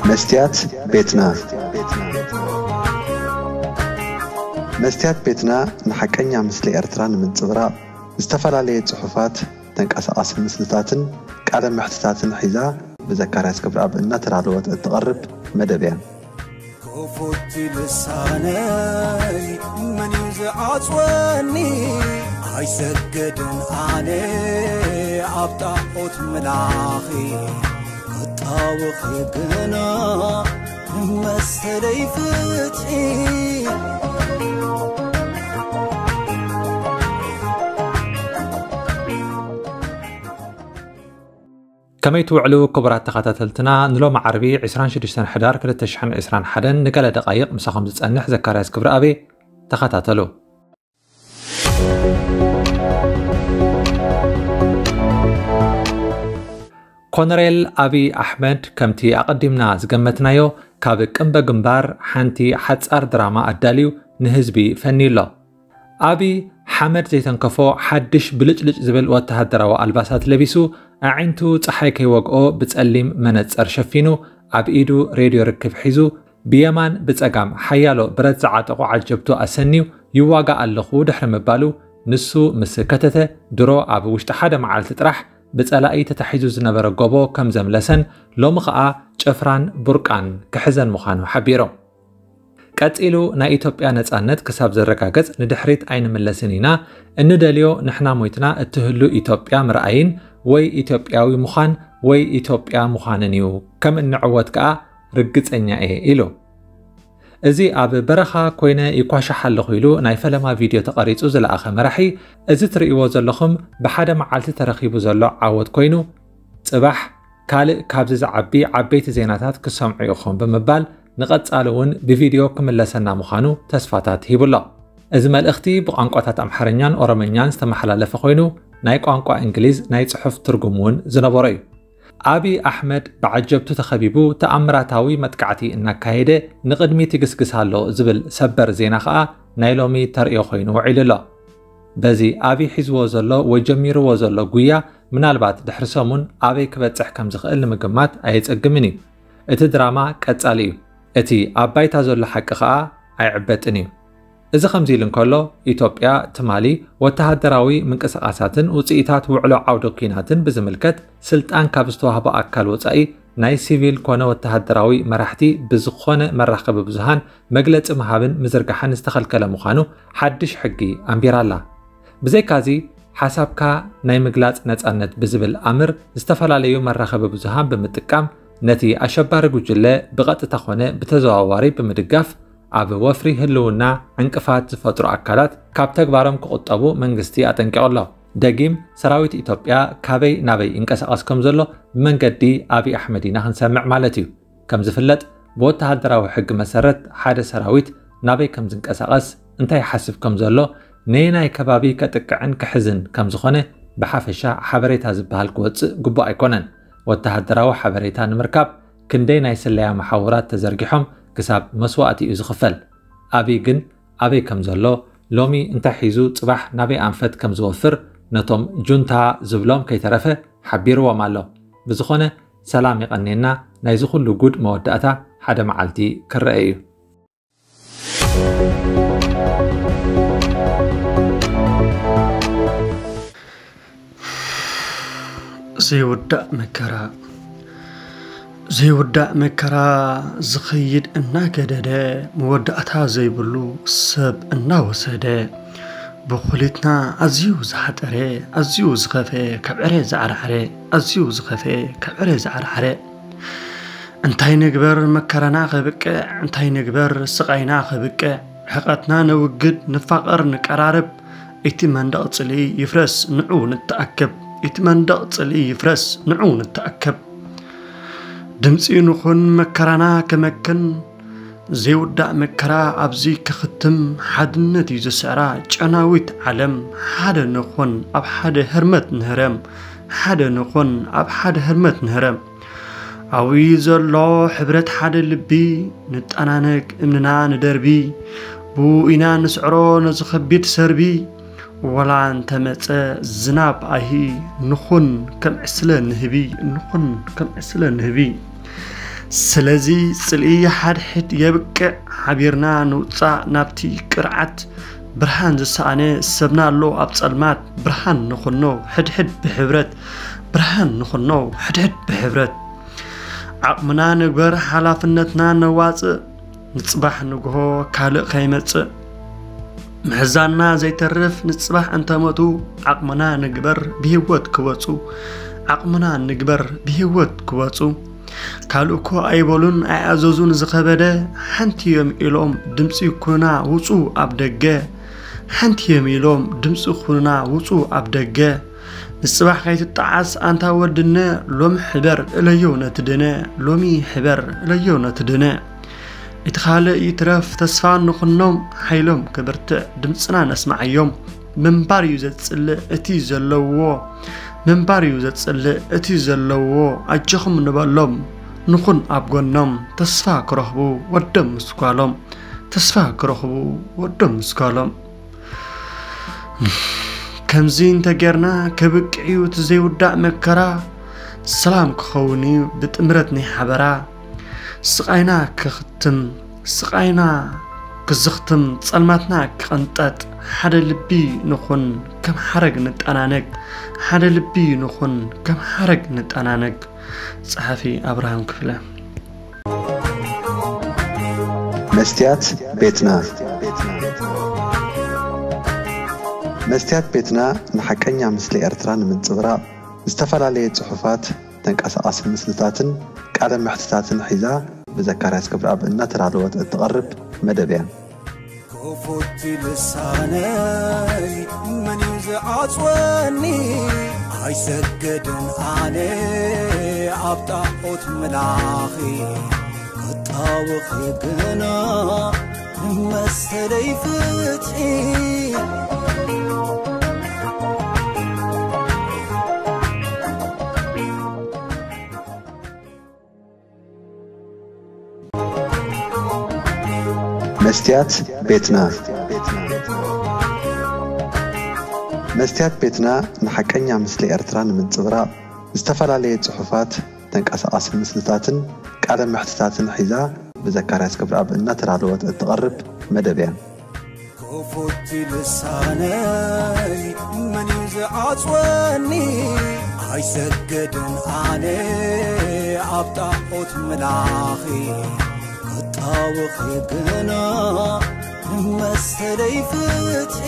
መስትያት ቤትና። መስትያት ቤትና ንሓቀኛ ምስሊ ኤርትራ ንምንጽብራቕ ዝተፈላለየ ጽሑፋት፣ ተንቀሳቓሲ ምስልታትን ቃለ መሕትታትን ሒዛ ብዘካርያስ ክብረኣብ እናተዳለወት እትቐርብ መደብ እያ። ክፉት ልሳነይ መን እዩ ዝዓጽወኒ? ኣይሰግድን ኣነ ኣብ ጣዖት ምላኺ፣ ክጣወኺ ግና መሰለይ ፍትሒ። ከመይ ትውዕሉ ክቡራት ተኸታተልትና? ንሎሚ ዓርቢ ዕስራን ሽዱሽተን ሕዳር ክልተ ሽሕን ዕስራን ሓደን ንገለ ደቓይቕ ምሳኹም ዝጸንሕ ዘካርያስ ክብረኣብ እየ። ተኸታተሉ። ኮነሬል ኣብይ ኣሕመድ፣ ከምቲ ኣቐዲምና ዝገመትናዮ፣ ካብ ቅምበ ግንባር ሓንቲ ሓጻር ድራማ ኣዳልዩ ንህዝቢ ፈንዩ ኣሎ። ኣብይ ሓመድ ዘይተንከፎ ሓድሽ ብልጭልጭ ዝብል ወተሃደራዊ ኣልባሳት ለቢሱ፣ ኣዒንቱ ጸሓይ ከይወግኦ ብጸሊም መነጸር ሸፊኑ፣ ኣብ ኢዱ ሬድዮ ርክብ ሒዙ፣ ብየማን ብጸጋም ሓያሎ ብረት ዝዓጠቑ ዓጀብቱ ኣሰንዩ፣ ይዋጋእ ኣለኹ ድሕሪ ምባሉ፣ ንሱ ምስ ከተተ፣ ድሮ ኣብ ውሽጢ ሓደ መዓልቲ ጥራሕ ብጸላኢ ተታሒዙ ዝነበረ ጎቦ ከም ዘምለሰን፣ ሎሚ ኸኣ ጭፍራን ቡርቃን ክሕዘን ምዃኑ ሓቢሩ። ቀጺሉ፣ ናይ ኢትዮጵያ ነጻነት ክሳብ ዝረጋገጽ ንድሕሪት ኣይንምለስን ኢና፣ እንደልዮ ንሕና ሞይትና እትህሉ ኢትዮጵያ ምርኣይን ወይ ኢትዮጵያዊ ምዃን ወይ ኢትዮጵያ ምዃንን እዩ፣ ከም እንዕወት ከኣ ርግጸኛ እየ ኢሉ። እዚ ኣብ በረኻ ኮይነ ይኳሻሕ ኣለኹ ኢሉ ናይ ፈለማ ቪድዮ ተቐሪጹ ዝለኣኸ መራሒ፣ እዚ ትርእይዎ ዘለኹም ብሓደ መዓልቲ ተረኺቡ ዘሎ ዓወት ኮይኑ፣ ጽባሕ ካልእ ካብዚ ዝዓቢ ዓበይቲ ዜናታት ክሰምዑ ኢኹም ብምባል፣ ንቐጻሊ እውን ብቪድዮ ክምለሰና ምዃኑ ተስፋታት ሂቡ ኣሎ። እዚ መልእኽቲ ብቋንቋታት ኣምሓርኛን ኦሮምኛን ዝተመሓላለፈ ኮይኑ፣ ናይ ቋንቋ እንግሊዝ ናይ ጽሑፍ ትርጉም እውን ዝነበሮ እዩ። ኣብይ ኣሕመድ ብዓጀብቱ ተኸቢቡ ተኣምራታዊ መጥቃዕቲ እናካየደ ንቕድሚት ይግስግስ ኣሎ ዝብል ሰበር ዜና ኸኣ ናይ ሎሚ ተርእዮ ኮይኑ ውዒሉ ኣሎ። በዚ ኣብይ ሒዝዎ ዘሎ ወይ ጀሚርዎ ዘሎ ጉያ ምናልባት ድሕሪ ሰሙን ኣበይ ክበጽሕ ከም ዝኽእል ንምግማት ኣየጸግምን እዩ። እቲ ድራማ ቀጻሊ እዩ። እቲ ኣብ ባይታ ዘሎ ሓቂ ኸኣ ኣይዕበጥን እዩ። እዚ ከምዚ ኢሉ እንከሎ፣ ኢትዮጵያ ትማሊ ወተሃደራዊ ምንቅስቓሳትን ውጽኢታት ውዕሎ ዓውደ ኲናትን ብዝምልከት ስልጣን ካብ ዝተዋህቦ ኣካል ወጻኢ ናይ ሲቪል ኮነ ወተሃደራዊ መራሕቲ ብዝኾነ መራኸቢ ብዙሃን መግለጺ ምሃብን ምዝርጋሕን ዝተኸልከለ ምዃኑ ሓድሽ ሕጊ ኣንቢራ ኣላ። ብዘይካዚ፣ ሓሳብካ ናይ ምግላጽ ነጻነት ብዝብል ኣምር ዝተፈላለዩ መራኸቢ ብዙሃን ብምጥቃም ነቲ ኣሸባሪ ጉጅለ ብቐጥታ ኮነ ብተዘዋዋሪ ብምድጋፍ ኣብ ወፍሪ ህልውና ዕንቅፋት ዝፈጥሩ ኣካላት ካብ ተግባሮም ክቑጠቡ መንግስቲ ኣጠንቂቑ ኣሎ። ደጊም ሰራዊት ኢትዮጵያ ካበይ ናበይ ይንቀሳቐስ ከም ዘሎ ብመንገዲ ኣብይ ኣሕመድ ኢና ክንሰምዕ ማለት እዩ። ከም ዝፍለጥ ብወተሃደራዊ ሕጊ መሰረት ሓደ ሰራዊት ናበይ ከም ዝንቀሳቐስ እንታይ ይሓስብ ከም ዘሎ ነየናይ ከባቢ ከጥቅዕን ክሕዝን ከም ዝኾነ ብሓፈሻ ሓበሬታ ዝበሃል ክወጽእ ግቡእ ኣይኮነን። ወተሃደራዊ ሓበሬታ ንምርካብ ክንደይ ናይ ስለያ መሓውራት ተዘርጊሖም ክሳብ መስዋእቲ እዩ ዝኽፈል። ኣብይ ግን ኣበይ ከም ዘሎ፣ ሎሚ እንታይ ሒዙ ጽባሕ ናበይ ኣንፈት ከም ዝወፍር ነቶም ጁንታ ዝብሎም ከይተረፈ ሓቢርዎም ኣሎ። ብዝኾነ ሰላም ይቐንየና፣ ናይዚ ኩሉ ጉድ መወዳእታ ሓደ መዓልቲ ክረአ እዩ። ዘይውዳእ መከራ። ዘይውዳእ መከራ ዝኸይድ እናገደደ፣ መወዳእታ ዘይብሉ ሰብ እናወሰደ፣ ብኹሊትና ኣዝዩ ዝሓጠረ፣ ኣዝዩ ዝኸፈ፣ ካብ ዕረ ዝዓርዓረ፣ ኣዝዩ ዝኸፈ፣ ካብ ዕረ ዝዓርዓረ። እንታይ ንግበር መከራና ከብቅዕ፣ እንታይ ንግበር ስቓይና ከብቅዕ፣ ሕቐትና ነውግድ፣ ንፋቐር፣ ንቀራረብ፣ እቲ መንደቕ ጽልኢ ይፍረስ፣ ንዑ ንተኣከብ። እቲ መንደቕ ጽልኢ ይፍረስ፣ ንዑ ንተኣከብ። ድምጺ ንኹን፣ መከራና ከመክን፣ ዘይውዳእ መከራ ኣብዚ ክኽትም፣ ሓድነት እዩ ዝስዕራ ጨናዊት ዓለም። ሓደ ንኹን፣ ኣብ ሓደ ህርመት ንህረም፣ ሓደ ንኹን፣ ኣብ ሓደ ህርመት ንህረም። ኣብኡ ዘሎ ሕብረት ሓደ ልቢ፣ ንጠናነቅ እምንና ንደርቢ፣ ብኡ ኢና ንስዕሮ ነዚ ከቢድ ሰርቢ። ወላ እንተመጸ ዝናብ ኣይሂ፣ ንኹን ከም ዕስለ ንህቢ፣ ንኹን ከም ዕስለ ንህቢ። ስለዚ ጽልኢ ሓድሕድ የብቅዕ፣ ሓቢርና ንውጻእ ናብቲ ቅርዓት። ብርሃን ዝሰኣነ ሰብና ኣሎ ኣብ ጸልማት፣ ብርሃን ንኹኖ ሕድሕድ ብሕብረት፣ ብርሃን ንኹኖ ሕድሕድ ብሕብረት። ዓቕምና ንግበር፣ ሓላፍነትና ነዋጽእ፣ ንጽባሕ ንግሆ ካልእ ከይመጽእ። ምሕዛና ዘይተርፍ ንጽባሕ እንተመቱ፣ ዓቕምና ንግበር ብህይወት ክወጹ፣ ዓቕምና ንግበር ብህይወት ክወጹ። ካልእ እኮ ኣይበሉን ኣይኣዘዙን ዝኸበደ፣ ሓንቲ እዮም ኢሎም ድምጺ ኩና ውጹ ኣብ ደገ፣ ሓንቲ እዮም ኢሎም ድምጺ ኩና ውጹ ኣብ ደገ። ንጽባሕ ከይትጠዓስ ኣንታ ወድነ፣ ሎሚ ሕበር እለዮ ነቲ ድነ፣ ሎሚ ሕበር እለዮ ነቲ ድነ። እቲ ካልእ ይትረፍ ተስፋ ንኹኖም፣ ሓይሎም ክብርትዕ ድምጽና ነስማዓዮም። ምንባር እዩ ዘጽልእ እቲ ዘለውዎ፣ ምንባር እዩ ዘጽልእ እቲ ዘለውዎ። ኣጆኹም ንበሎም፣ ንኹን ኣብ ጎኖም። ተስፋ ክረኽቡ ወዶም ምስ ጓሎም፣ ተስፋ ክረኽቡ ወዶም ምስ ጓሎም። ከምዚ እንተጌርና ከብቅዕ እዩ እቲ ዘይውዳእ መከራ፣ ሰላም ክኸውን እዩ ብጥምረት ናይ ሓበራ። ስቓይና ክኽትም፣ ስቓይና ክዝኽትም፣ ጸልማትና ክቕንጠጥ፣ ሓደ ልቢ ንኹን ከም ሓረግ ንጠናነግ፣ ሓደ ልቢ ንኹን ከም ሓረግ ንጠናነግ። ጸሓፊ ኣብርሃም ክፍለ። መስትያት ቤትና። መስትያት ቤትና ንሓቀኛ ምስሊ ኤርትራ ንምንጽብራቕ ዝተፈላለየ ጽሑፋት፣ ተንቀሳቓሲ ምስልታትን ቃለ መሕትታትን ሒዛ ብዘካርያስ ክብረኣብ እናተዳለወት እትቐርብ መደብ እያ። ክፉት ልሳነይ መን እዩ ዝዓጽወኒ? ኣይሰግድን ኣነ ኣብ ጣዖት ምላኺ፣ ክጣወኺ ግና ንመሰለይ ፍትሒ። መስትያት ቤትና። መስትያት ቤትና ንሓቀኛ ምስሊ ኤርትራ ንምንጽብራቕ ዝተፈላለየ ጽሑፋት፣ ተንቀሳቓሲ ምስልታትን ቃለ መሕትታትን ሒዛ ብዘካርያስ ክብረኣብ እናተዳለወት እትቐርብ መደብ እያ። ክፉት ልሳነይ መን እዩ ዝዓጽወኒ? ኣይሰግድን ኣነ ኣብ ጣዖት ምላኺ፣ ክጣወኺ ግና ንመሰለይ ፍትሒ።